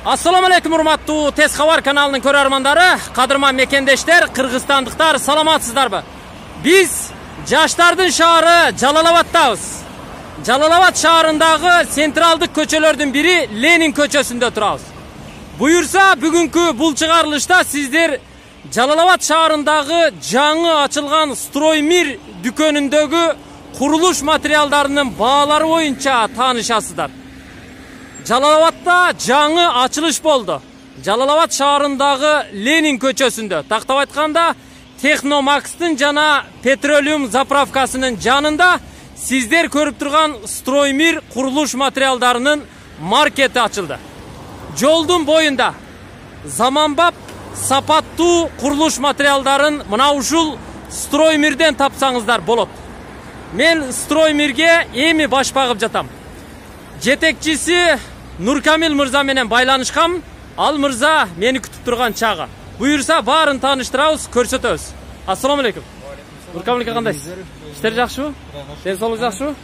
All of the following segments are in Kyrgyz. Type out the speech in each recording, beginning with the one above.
Assalamu alaikum урматтуу Тез Хабар каналынын көрөрмандары, кадырман мекендештер, кыргызстандыктар, саламатсыздарбы? Биз жаштардын шаары Жалал-Абадтабыз. Жалал-Абад шаарындагы централдык көчөлөрдүн бири Ленин көчөсүндө турабыз. Буюрса, бүгүнкү бул чыгарылышта сиздер Жалал-Абад шаарындагы жаңы ачылган Строймир дүкөнүндөгү курулуш материалдарынын баалары боюнча таанышасыздар. Жалал-Абадта жаңы ачылыш болду. Жалал-Абад шаарындагы Ленин көчөсүндө, тактап айтканда Техномакстын жана Петролиум заправкасынын жанында сиздер көрүп турган Строймир курулуш материалдарынын маркети ачылды. Жолдун боюнда заманбап, сапаттуу курулуш материалдарын мына ушул Строймирден тапсаңыздар болот. Мен Строймирге эми баш багып жатам. Жетекчиси Нуркамил мырза менен байланышкам. Ал мырза мени күтүп турган чагы. Буюрса баарын тааныштырабыз, көрсөтөбүз. Ассаламу алейкум. Нуркамил aka кандайсыз? Иштер жакшыбы? Ден соолук жакшыбы?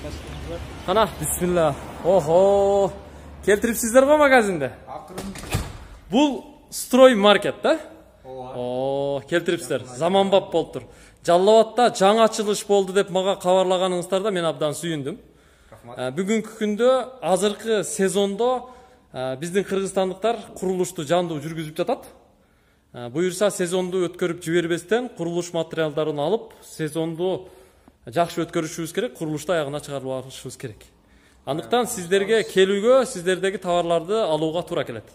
Кана, бисмилла. Охо, келтирипсиздер го магазинде? Бул Строй маркет да? О, келтирипсиздер. Заманбап болуптур. Жалал-Абадта жаңы ачылыш болду деп мага кабарлаганыңыздарда мен абдан сүйүндүм. Бүгүнкү күндө азыркы сезондо биздин кыргызстандыктар курулушту жандуу жүргүзүп жатат. Буюрса сезонду өткөрүп жибербестен курулуш материалдарын алып, сезонду жакшы өткөрүшүбүз керек, курулушту аягына чыгарып алышыбыз керек. Андыктан сиздерге келүүгө, сиздердеги товарларды алууга туура келет.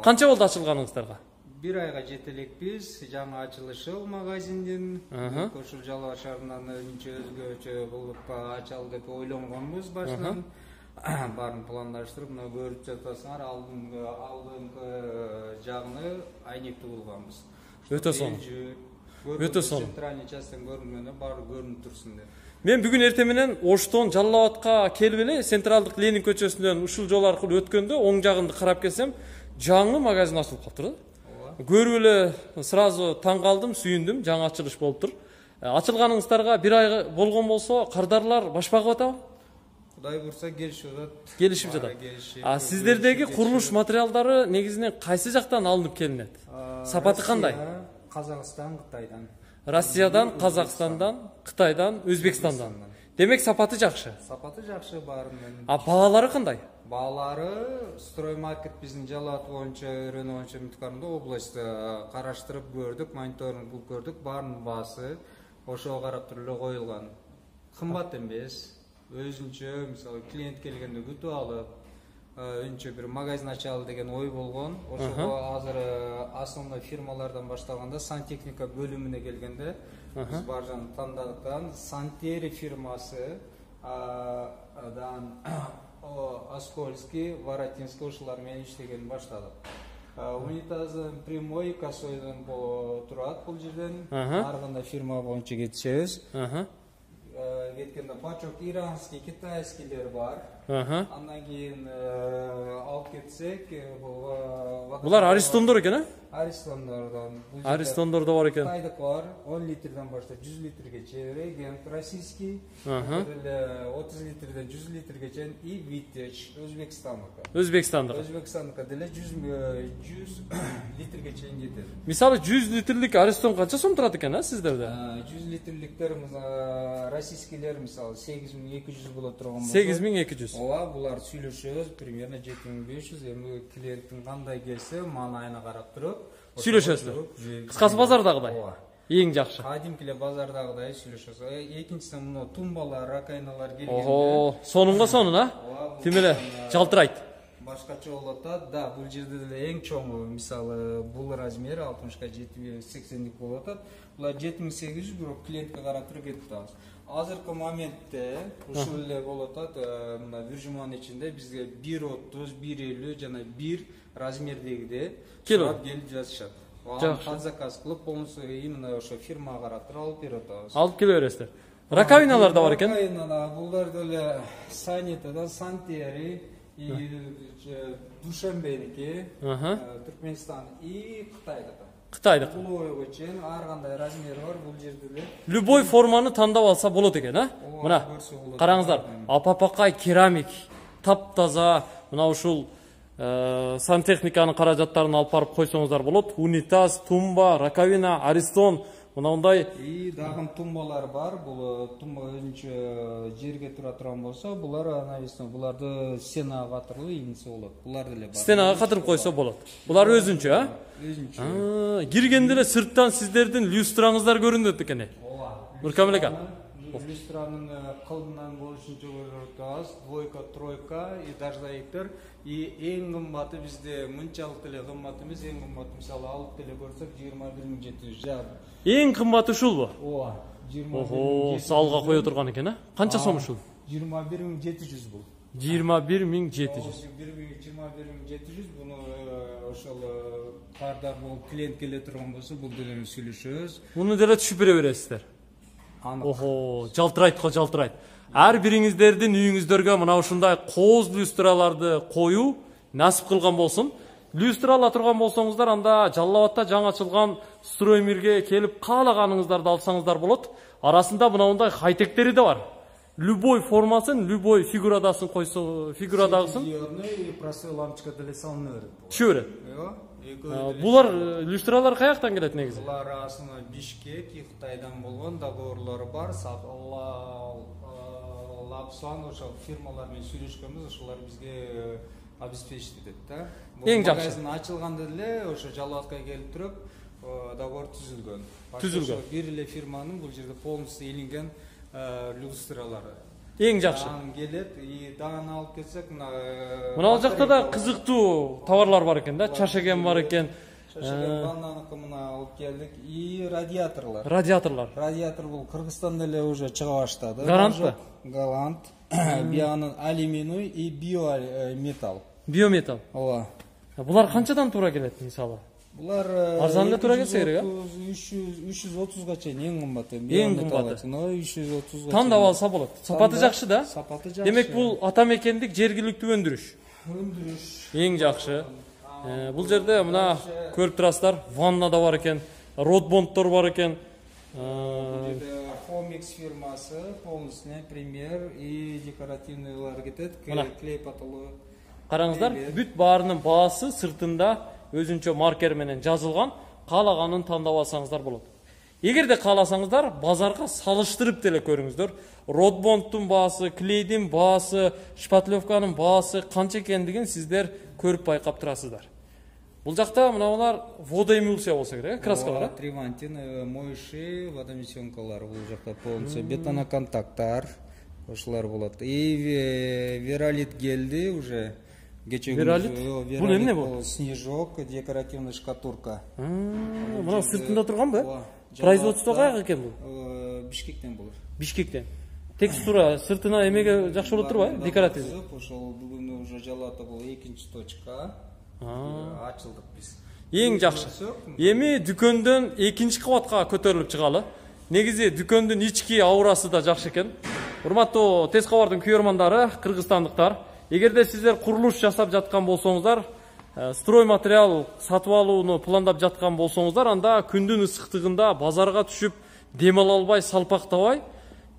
Канча болду ачылганыңыздарга? Bir ayga жетелекпиз, жаңы ачылышы магазиндин. Ошол Жалал-Абад шаарынан өнчө өзгөчө болуп ачалы деп ойлонгонбуз башынан. Баарын пландаштырып, мына көрүп жатасыңар, алдыңкы жагыны айнектүү болгонбуз. Өтө сонун. Өтө сонун. Центральный часттан көрүнгөнү баары көрүнүп турсун деп. Мен бүгүн эртең менен Оштон Жалал-Абадка келип эле централдык Ленин көчөсүнөн ушул жол аркылуу өткөндө оң жагымды карап келсем, жаңы магазин ачылып калыптыр да. Көрүп эле сразу таң калдым, сүйүндүм, жаңы ачылыш болуптур. Ачылганыңыздарга бир ай болгон болсо, кардарлар баш багып атабы? Кудай бурса келишип атат. Келишип жатат. Сиздердеги курулуш материалдары негизинен кайсы жактан алынып келинет? Сапаты кандай? Казакстан, Кытайдан. Россиядан, Казакстандан, Кытайдан, Өзбекстандан. Демек сапаты жакшы. Сапаты жакшы баарынын. Баалары кандай? Баалары Строймаркет биздин Жалал-Абад боюнча өрөнүү боюнча муткарында областта караштырып көрдүк, мониторинг кылып көрдүк. Баарынын баасы ошого карап туруп эле коюлган. Кымбат эмес. Өзүнчө, мисалы, клиент келгенде күтүп алып, өнчө бир магазин ачалы деген ой болгон. Ошого азыр основной фирмалардан баштаганда сантехника бөлүмүнө келгенде биз бааржан тандадыктан Сантери фирмасы, Оскольский, Воротинский ошолар менен иштеген баштадык. Унитазы прямой косойдон турат бул жерден. Ар кандай фирма боюнча кетишебиз. Кеткенде пачок иранский, китайскийлер бар. Андан кийин алып кетсек, булар Аристондор экен, Аристондордон. Аристондордо бар экен. Кытайдык бар, 10 литрден баштап 100 литрге регент российский, 30 литрден 100 литрге чейин и Витеч Өзбекстандык. Өзбекстандык деле 100 литрге чейин жетет. Мисалы 100 литрлик Аристон канча сом турат экен, сиздерде? 100 литрдиктер российскийлер мисалы 8200 болот турган болсо. 8200. Ооба, булар сүйлөшөбүз, примерно 7500. Эми клиенттин кандай келсе, маанайына карап туруп сүйлөшөсүздөр. Кыскасы базардагыдай. Эң жакшы. Кадимкиле базардагыдай сүйлөшөбүз. Экинчиден мына тумбалар, ракайналар келгенде. Ого, сонунга сонун, Тим эле жалтырайт. Башкача болот да, бул жерде деле эң чоңу, мисалы, бул размери 60га 80lik болот. Булар 7800, бирок клиентке карап туруп кетип атабыз. Азыркы моментте ушул эле болот, мына Виржман ичинде бизге 1.30, 1.50 жана 1 размердегиде сурап келип жатышат. Ал заказ кылып, болмосо именно ошо фирмага карап туруп алып берип атабыз. Алып келе бересиздер. Раковиналар да бар экен. Раковиналар, булдар деле Санитадан, Сантери, Душанбеники, Түркменстан и Кытайдык. Бул чейин ар кандай размери бар бул жерде эле. Любой форманы тандап алса болот экен, Мына караңыздар, апапакай керамик, таптаза, мына ушул сантехниканын каражаттарын алып барып койсоңуздар болот. Унитаз, тумба, раковина, аристон, мындай дагы тумбалар бар. Бул тумба өзүнчө жерге тура турган болсо, булар навесно, буларды стенага катырылып ийинсе болот. Булар деле бар. Стенага катырып койсо болот. Булар өзүнчө, а? Өзүнчө. Киргенде эле сырттан сиздердин люстраңыздар көрүнөт экен. Нуркамил ака. Люстранын кылымынан болушунча көрүнөт. Двойка, тройка и дождевиктер. И эң кымбаты бизде мынчалык деле кымбат эмес, эң кымбаты мисалы алып деле көрсөк 21700 жар. Эң кымбаты ушулбу? Ооба. 21700. Салга кое турган экен, а? Канча сом ушул? 21700 бул. 21700. 21700 буну ошол кардар болуп клиент келе турган болсо бул деле сүйлөшөбүз. Муну деле түшүп бере бересиздер. Жалтырайт го, жалтырайт. Ар бириңиздердин үйүңүздөргө мына ушундай кооз люстраларды коюу насип кылган болсун. Люстра ала турган болсоңуздар, анда Жалал Абадта жаңы ачылган Строймирге келип каалаганыңыздарды алсаңыздар болот. Арасында мындай хайтектери да бар. Любой формасын, любой фигурадасын койсо, фигурадагысын. И простой лампочка деле салына берет. Түшө берет. Булар люстралар каяктан келет негизи? Булар асына Бишкек, Кытайдан болгон договорлору бар. Лапсан ошол фирмалар менен сүйлөшкөнбүз, ошолар бизге обеспечить этет да. Эң жакшы. Магазин ачылганда эле ошо Жалал Абадка келип туруп договор түзүлгөн. Түзүлгөн. Бир эле фирманын бул жерде полностью илинген люстралары. Эң жакшы. Келет, и дагы алып кетсек, мына жакта да кызыктуу товарлар бар экен да, чашеген бар экен. Шашеген бананыкы мына алып келдик. И радиаторлар. Радиатор бул Кыргызстанда эле уже чыга баштады. Гарантпы? Галант. Бианын алюминий и биометалл. Биометалл. Ооба. Булар канчадан туура келет мисалы? Булар арзан эле туура келсе керек, а? 330га чейин эң кымбаты. Эң кымбаты. 330га. Тандап алса болот. Сапаты жакшы да? Сапаты жакшы. Демек бул ата мекендик жергиликтүү өндүрүш. Эң жакшы. Бул жерде мына көрүп турасыздар, ванна да бар экен, родбондтор бар экен. Хомикс фирмасы, полностью пример и декоративныйлар кетет, клей потолок. Караңыздар, бүт баарынын баасы сыртында өзүнчө маркер менен жазылган, каалаганын тандап алсаңыздар болот. Эгерде кааласаңыздар, базарга салыштырып деле көрүңүздөр. Родбондтун баасы, клейдин баасы, шпатлевканын баасы канча экендигин сиздер көрүп байкап турасыздар. Бул жакта мыналар водоэмульсия болсо керек, краскалар. Тривантин, моющий, водомесенкалар бул жакта полностью, бетоноконтакттар, ошолор болот. И веролит келди уже. Веролит? Бул эмне бул? Снежок, декоративный шкатурка. Мына сыртында турганбы? Производство каяка экен бул? Бишкектен болот. Бишкектен. Текстура сыртына эмеге жакшы болот турбайбы? Декоративный. Ошол бүгүн уже Жалал Абадта бул 2-точка. Ачылдык биз. Эң жакшы. Эми дүкөндөн 2-кабатка көтөрүлүп чыгалы. Негизи дүкөндүн ички аурасы да жакшы экен. Урматтуу Тез кабардын көрөрмандары, кыргызстандыктар, эгерде сиздер курулуш жасап жаткан болсоңуздар, строй материал сатып алууну пландап жаткан болсоңуздар, анда күндүн ысыктыгында базарга түшүп дем ала албай, салпактабай,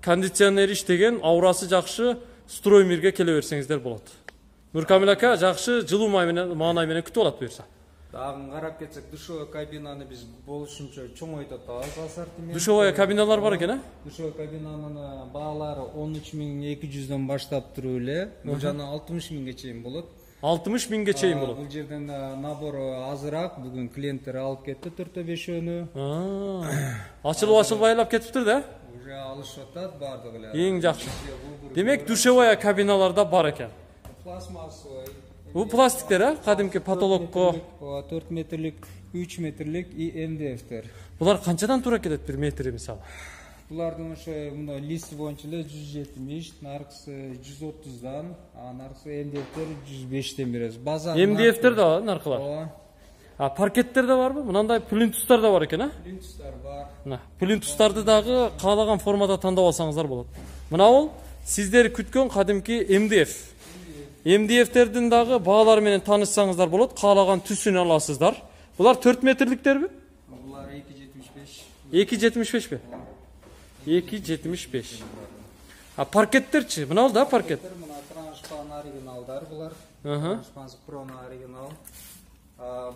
кондиционер иштеген, аурасы жакшы Строймирге келе берсеңиздер болот. Нуркамил ака жакшы жылуу маанай менен күтүп алат буюрса. Дагы карап кетсек, душевой кабинаны биз болушунча чоңойтуп атабыз ассортимент. Душевой кабиналар бар экен, а? Душевой кабинанын баалары 13200дөн баштап туруп эле, жана 60000ге чейин болот. 60000ге чейин болот. Бул жерден набор азыраак, бүгүн клиенттер алып кетти 4-5-өнү. Ачылып-ачылбайлап кетиптир да? Уже алышып атат бардыгы эле. Эң жакшы. Демек душевой кабиналарда бар экен. Пластмассовый. Бул пластиктер, а? Кадимки потолокко 4 метрлик, 3 метрлик и МДФтер. Булар канчадан туура келет бир метри мисалы? Булардын ошо мына лист боюнча эле 170, наркысы 130дан, наркысы МДФтер 105тен беребиз. База МДФтер да бар наркылар. Паркеттер да барбы? Мынандай плинтустар да бар экен, а? Плинтустар бар. Мына плинтустарды дагы каалаган формада тандап алсаңыздар болот. Мына бул сиздер күткөн кадимки МДФ. МДФтердин дагы баалары менен таанышсаңыздар болот, каалаган түсүн аласыздар. Булар 4 метрликтерби? Булар 2.75. 2.75 бе? 2.75. Паркеттерчи? Мына бул да паркет. Мына траншпан оригиналдар булар. Испанск Проно оригинал.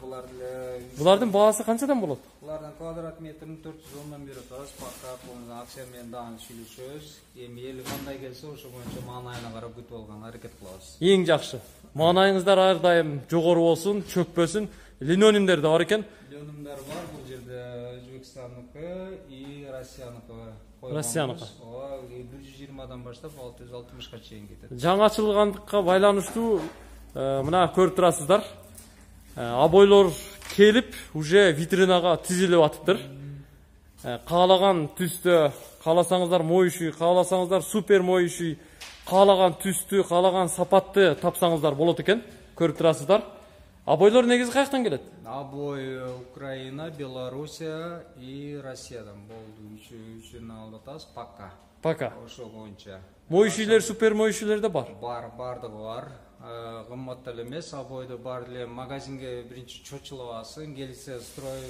Булар деле Булардын баасы канчадан болот? Булардын квадрат метрин 410 берип атабыз. Пока полный акция менен дагы сүйлөшөбүз. Эми эл кандай келсе ошо боюнча маанайына карап күтүп алганга аракет кылабыз. Эң жакшы. Маанайыңыздар ар дайым жогору болсун, чөкпөсүн. Линолеумдер да бар экен. Линолеумдар бар, бул жерде Өзбекстандыкы и Россияныкы. Россияныкы. 120дан баштап 660га чейин кетет. Жаңы ачылгандыкка байланыштуу мына көрүп турасыздар. Обойлор келип, уже витринага тизилип атыптыр. Каалаган түстө, кааласаңыздар моющий, кааласаңыздар супер моющий, каалаган түстү, каалаган сапатты тапсаңыздар болот экен. Көрүп турасыздар. Обойлор негизи каяктан келет? Обой Украина, Белоруссия и Россиядан болду. Үчүн алдатабыз пока. Ошо боюнча. Моющийлер, супер моющийлер да бар. Бардыгы бар. Кымбат эле эмес, обойду бар эле магазинге биринчи чочулабасын, келсе строй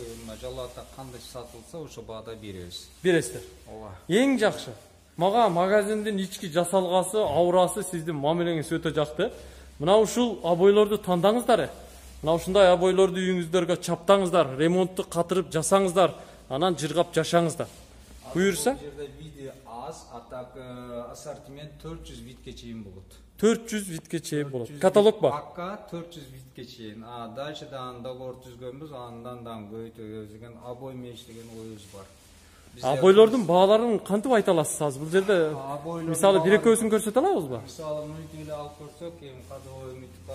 жалаатта кандай сатылса ошо баада беребиз. Бересиздер. Ооба. Эң жакшы. Мага магазиндин ички жасалгасы, аурасы сиздин мамилеңиз өтө жакты. Мына ушул обойлорду тандаңыздар. Мына ушундай обойлорду үйүңүздөргө чаптаңыздар, ремонтту катырып жасаңыздар, анан жыргап жашаңыздар. Буюрса? Бул жерде види аз, а так ассортимент 400 витке чейин болот. 400 витке чейин болот. Каталог бар. Пока 400 витке чейин. Дальше договор түзгөнбүз, андан дагы көбөйтөбүз деген обой меш деген оюбуз бар. Обойлордун бааларын кантип айта аласыз азыр? Бул жерде мисалы бир экөөсүн көрсөтө алабызбы? Мисалы мынтип эле алып көрсөк, эми кадровой үмүтка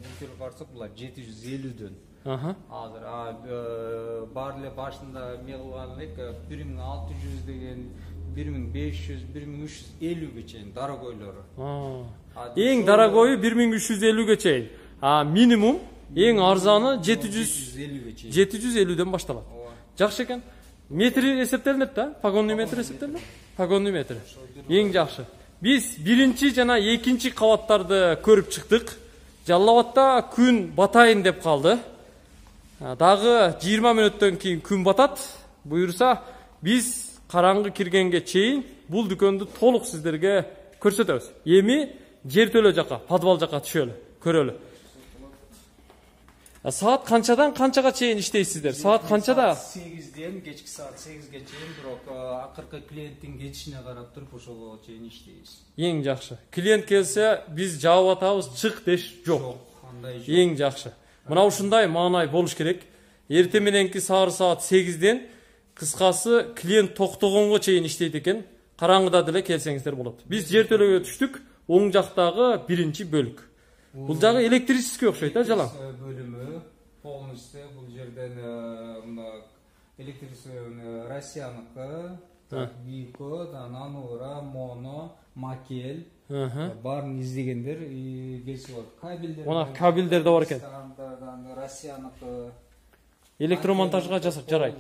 бүкүл карсак булар 750дөн. Азыр бар эле башында эме кылган элек 1600 деген 1500, 1350ге чейин дорогойлору. Эң дорогойу 1350ге чейин. Минимум эң арзаны 750ден башталат. Жакшы экен. Метри эсептелинет да? Погонный метр эсептелинет? Погонный метр. Эң жакшы. Биз биринчи жана экинчи кабаттарды көрүп чыктык. Жалал Абадта күн батайын деп калды. Дагы 20 мүнөттөн кийин күн батат. Буюрса, биз караңгы киргенге чейин бул дүкөндү толук сиздерге көрсөтөбүз. Эми жер төлө жака, подвал жака түшөлү, көрөлү. Саат канчадан канчага чейин иштейсиздер? Саат канчада? 8ден кечки саат 8ге чейин, бирок акыркы клиенттин кетишине карап туруп ошого чейин иштейбиз. Эң жакшы. Клиент келсе, биз жаап атабыз, чык деш жок. Эң жакшы. Мына ушундай маанай болуш керек. Эртең мененки саат 8ден кыскасы клиент токтогонго чейин иштейт экен. Караңгыда деле келсеңиздер болот. Биз жер төлөгө түштүк. Оң жактагы биринчи бөлүк. Бул жагы электрический окшойт да, жалаң. Бөлүмү полностью бул жерден мына электрический Россияныкы, Вико, Нанура, Моно, Макел барын издегендер келип болот. Кабелдер. Мына кабелдер да бар экен. Россияныкы электромонтажга жасап жарайт.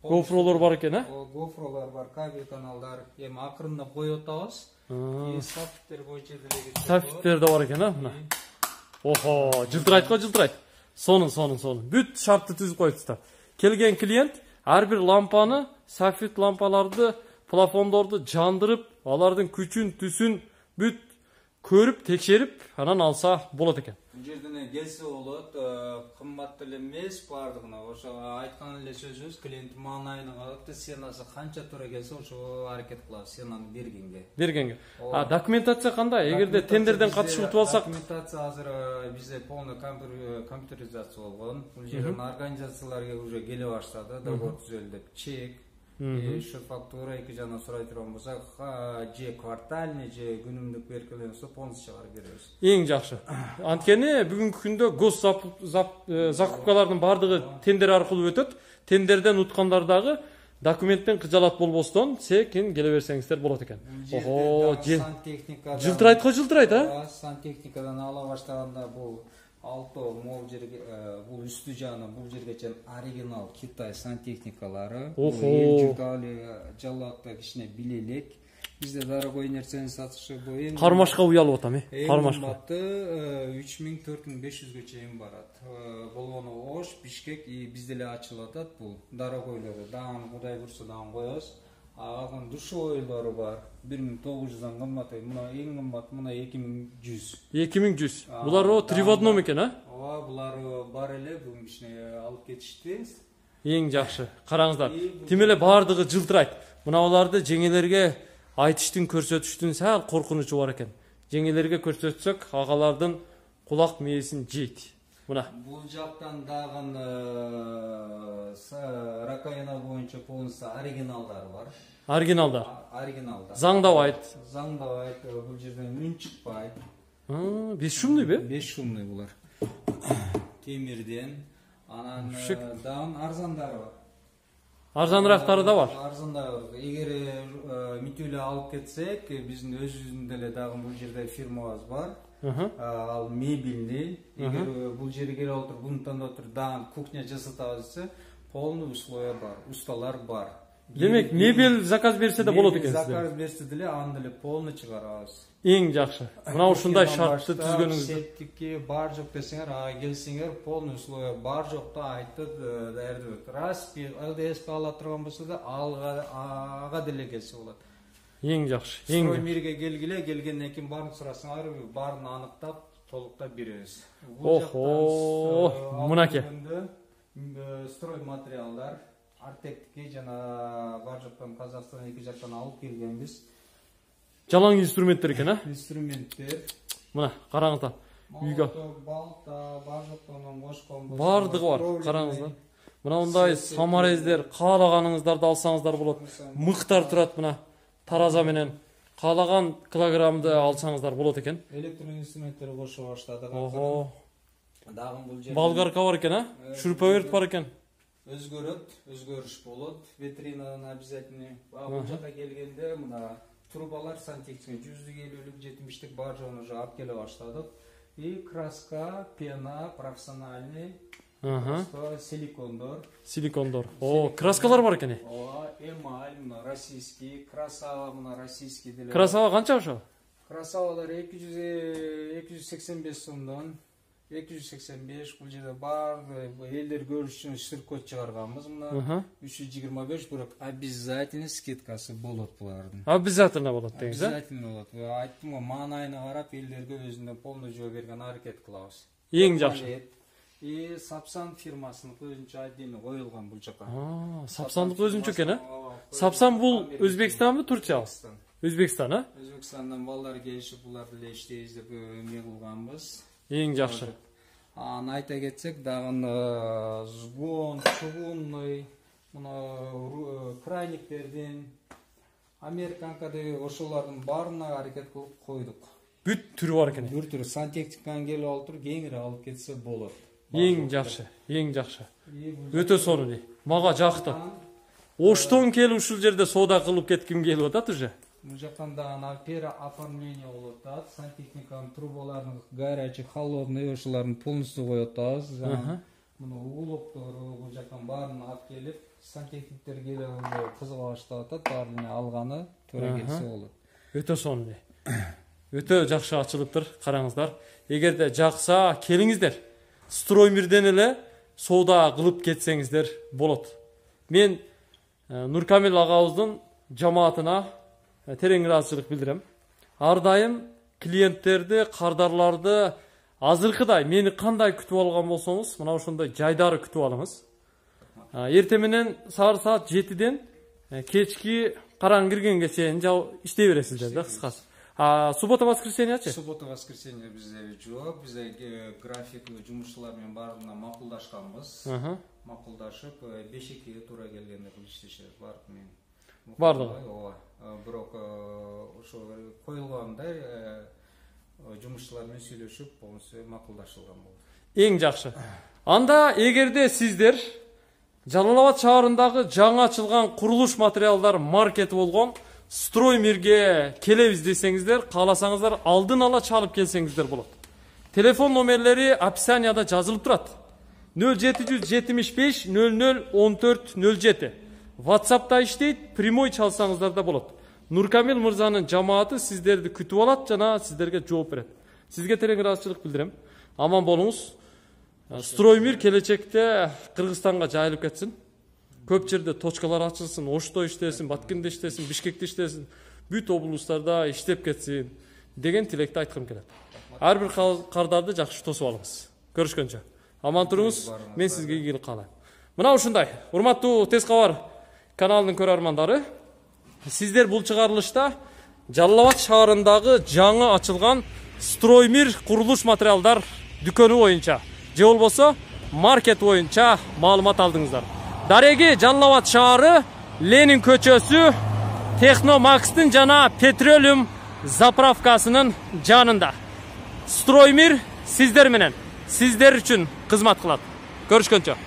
Гофролор бар экен, Гофролор бар, кабель каналдар. Эми акырындап коюп атабыз. Сафтер боюнча деле кетет. Сафтер да бар экен, мына. Охо, жылтырайт го, жылтырайт. Сонун. Бүт шартты түзүп коюптур. Келген клиент ар бир лампаны, сафит лампаларды, плафондорду жандырып, алардын күчүн, түсүн бүт көрүп, текшерип, анан алса болот экен. Бул жерден келсе болот, кымбат эле эмес бардыгына. Ошо айткан эле сөзүбүз, клиент маанайына карап, сенасы канча туура келсе, ошо аракет кылабыз сенаны бергенге. Документация кандай? Эгерде тендерден катышып утуп алсак, документация азыр бизде полный компьютеризация болгон. Бул жерден организацияларга уже келе баштады, договор түзөлдү деп. Чек, шу фактура 2 жана сурай турган болсак, же квартальный, же күнүмдүк беркеленсе полностью чыгарып беребиз. Эң жакшы. Анткени бүгүнкү күндө гос закупкалардын бардыгы тендер аркылуу өтөт. Тендерден уткандар дагы документтен кыжалат болбостон секин келе берсеңиздер болот экен. Жылтырайт го, жылтырайт, сантехникадан ала баштаганда бул алто могул жерге бул үстү жагына бул жерге чейин оригинал Китай сантехникалары. Жалаатта кичине билелек. Бизде дорогой нерсени сатышы боюнча кармашка уялып атам, кармашка. 3000-4500ге чейин барат. Болгону Ош, Бишкек бизде эле ачылып атат бул дорогойлору. Дагы Кудай бурса дагы коебуз. Алган душевойлору бар. 1900'dan кымбат. Мына эң кымбат, мына 2100. 2100. Булар о 3 в 1 экен, а? Ооба, булар бар эле, бүгүн кичине алып кетишти. Эң жакшы. Караңыздар. Тим эле бардыгы жылтырайт. Мына буларды жеңелерге айтыштын, көрсөтүштүн сал коркунучу бар экен. Жеңелерге көрсөтсөк, агалардын кулак мээсин жейт. Мына. Бул жактан дагы ракайна боюнча полностью оригиналдар бар. Оригиналдар. Оригиналдар. Заңдабайт. Заңдабайт, бул жерден үн чыкпайт. 5 шумный бе? 5 шумный булар. Темирден, анан дагы арзандары бар. Арзанырактары да бар. Арзандары бар. Эгер мүтүлө алып кетсек, биздин өзүбүздүн деле дагы бул жерде фирмабыз бар. Ал мебельный. Эгер бул жерге келип отуруп, буну тандап отуруп, дагы кухня жасатабыз десе, полный условия бар, усталар бар. Демек, мебель заказ берсе де болот экен. Заказ берсе деле, аны деле полный чыгарабыз. Эң жакшы. Мына ушундай шартты түзгөнүңүз. Септикки бар жок десеңер, келсеңер, полный условия бар жокто айтып даярдап. Раз ЛДС ала турган болсо да, ага деле келсе болот. Эң жакшы. Строймирге келгиле, келгенден кийин баарын сурасаңар, баарын аныктап, толуктап беребиз. Охо, мынаке. Строй материалдар, Артектики жана бар жоктон Казакстан эки жактан алып келгенбиз. Жалаң инструменттер экен, а? Инструменттер. Мына, караңыздар. Үйгө. Балта, бар жоктон кошкон. Бардыгы бар, караңыздар. Мына мындай самарездер, каалаганыңыздарды алсаңыздар болот. Мыктар турат мына. Тараза менен каалаган килограммды алсаңыздар болот экен. Электрон инструменттер кошо баштадык. Ого. Дагы бул жерде болгарка бар экен, а? Шуруповерт бар экен. Өзгөрүш болот. Витринадан обязательно. Бул жака келгенде мына трубалар сантехника 150-лük, 70-лük бар жону уже алып келе баштадык. И краска, пена, профессиональный. Силикондор. О, краскалар бар экен. Ооба, эмаль, мына российский, красава, мына российский деле. Красава канча ошо? Красавалар 285 сомдон. 285, бул жерде бар элдер көрүш үчүн ширкот чыгарганбыз. Мына 325, бирок обязательно скидкасы болот булардын. Обязательно болот деңиз, а? Обязательно болот. Айттым го, маанайына карап элдерге өзүнө полный жооп берген аракет кылабыз. Эң жакшы. И Сапсан фирмасынын өзүнчө отдельно коюлган бул жака. Сапсандык өзүнчө экен, а? Сапсан бул Өзбекстанбы, Турциябы? Өзбекстан, а? Өзбекстандан балдар келишип, буларды эле иштейбиз деп эмне кылганбыз. Эң жакшы. Аны айта кетсек, дагы сгон, чугунный, мына крайниктердин, американка деп ошолордун баарына аракет кылып койдук. Бүт түрү бар экен. Бүт түрү сантехниканы келип отуруп, кеңири алып кетсе болот. Эң жакшы, эң жакшы. Өтө сонун. Мага жакты. Оштон келип ушул жерде соода кылып кетким келип атат уже. Бул жактан дагы перооформление болуп атат. Сантехниканын трубаларын горячий, холодный ошолорун полностью коюп атабыз. Мына уголоктору бул жактан баарын алып келип, сантехниктер келип кызыга баштап атат, баарын алганы туура келсе болот. Өтө сонун. Өтө жакшы ачылыптыр, караңыздар. Эгерде жакса, келиңиздер. Строймирден эле соода кылып кетсеңиздер болот. Мен Нуркамил агабыздын жамаатына терең ыраазычылык билдирем. Ар дайым клиенттерди, кардарларды азыркыдай мени кандай күтүп алган болсоңуз, мына ошондой жайдары күтүп алыңыз. Эртең менен саат 7-ден кечки караң киргенге чейин иштей бересиздер да, кыскасы. Суббота-воскресеньячы? Суббота-воскресенье бизде жок, бизде график жумушчулар менен баарына макулдашканбыз. Макулдашып, 5-2 туура келгенде бул иштешебиз бардык. Бардыгы. Ооба. Бирок ошо коюлгандай жумушчулар менен сүйлөшүп, полностью макулдашылган болду. Эң жакшы. Анда эгерде сиздер Жалал Абад шаарындагы жаңы ачылган курулуш материалдар маркети болгон Строймирге келебиз десеңиздер, кааласаңыздар алдын ала чалып келсеңиздер болот. Телефон номерлери описанияда жазылып турат. 0775 00 14 07. WhatsApp'та иштейт, прямой чалсаңыздар да болот. Нуркамил мырзанын жамааты сиздерди күтүп алат жана сиздерге жооп берет. Сизге терең ыраазычылык билдирем. Аман болуңуз. Строймир келечекте Кыргызстанга жайылып кетсин. Көп жерде точкалар ачылсын, Ошто иштесин, Баткенде иштесин, Бишкекте иштесин, бүт облустарда иштеп кетсин деген тилекти айткым келет. Ар бир кардарды жакшы тосуп алыңыз. Көрүшкөнчө. Аман туруңуз. Мен сизге ийгилик каалайм. Мына ушундай. Урматтуу Тез кабар каналынын көрөрмандары, сиздер бул чыгарылышта Жалал Абад шаарындагы жаңы ачылган Строймир курулуш материалдар дүкөнү боюнча же болбосо маркет боюнча маалымат алдыңыздар. Дареги Жалал Абад шаары, Ленин көчөсү, Техномакстын жана Петролиум заправкасынын жанында. Строймир сиздер менен, сиздер үчүн кызмат кылат. Көрүшкөнчө.